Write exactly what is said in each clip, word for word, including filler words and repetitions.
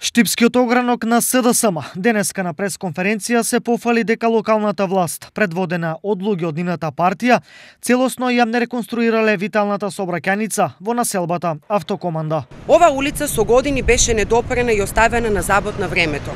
Штипскиот огранок на СДСМ денеска на пресконференција се пофали дека локалната власт, предводена од луѓе од нивната партија, целосно ја не реконструирале виталната сообраќајница во населбата Автокоманда. Ова улица со години беше недопрена и оставена на забот на времето.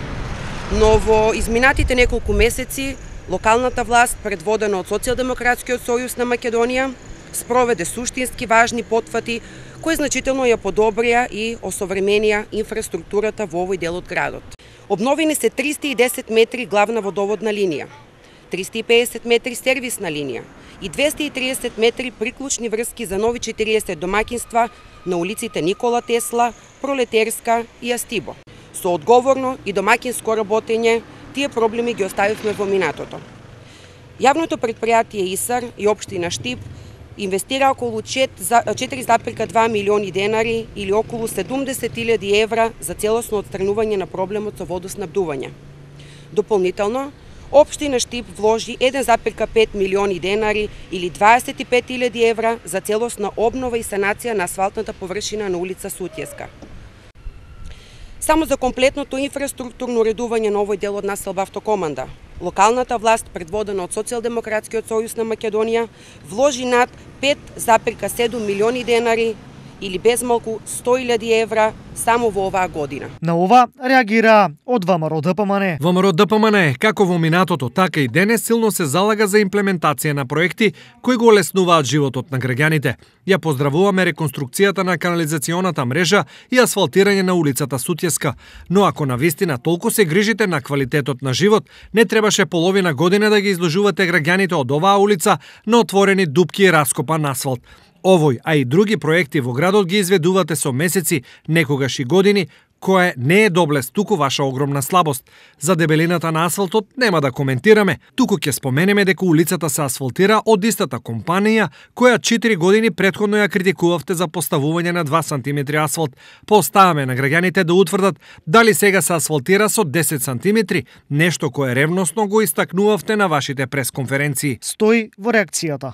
Но во изминатите неколку месеци локалната власт, предводена од Социјалдемократскиот сојуз на Македонија, спроведе суштински важни потфати кои значително ја подобрија и осовременија инфраструктурата во овој дел од градот. Обновени се триста и десет метри главна водоводна линија, триста и педесет метри сервисна линија и двесте и триесет метри приклучни врски за нови четириесет домаќинства на улиците Никола Тесла, Пролетерска и Астибо. Со одговорно и домаќинско работење тие проблеми ги оставивме во минатото. Јавното претпријатие ИСАР и општина Штип инвестира околу четири запирка два милиони денари или околу седумдесет илјади евра за целосно отстранување на проблемот со водоснабдување. Дополнително, општина Штип вложи еден запирка пет милиони денари или дваесет и пет илјади евра за целосна обнова и санација на асфалтната површина на улица Сутјеска. Само за комплетното инфраструктурно уредување на овој дел од населба Автокоманда, локалната власт, предводена од Социјалдемократскиот сојуз на Македонија, вложи над пет запирка седум милиони денари или безмалку сто илјади евра само во оваа година. На ова реагира од ВМРО ДПМН. ВМРО ДПМН, како во минатото, така и денес силно се залага за имплементација на проекти кои го олеснуваат животот на граѓаните. Ја поздравуваме реконструкцијата на канализационата мрежа и асфалтирање на улицата Сутјеска, но ако навистина толку се грижите на квалитетот на живот, не требаше половина година да ги изложувате граѓаните од оваа улица на отворени дупки и раскопан асфалт. Овој, а и други проекти во градот ги изведувате со месеци, некогаш и години, кое не е доблест, туку ваша огромна слабост. За дебелината на асфалтот нема да коментираме, туку ќе споменеме дека улицата се асфалтира од истата компанија која четири години претходно ја критикувавте за поставување на два сантиметри асфалт. Поставаме на граѓаните да утврдат дали сега се асфалтира со десет сантиметри, нешто кое ревносно го истакнувавте на вашите пресконференции. Стои во реакцијата.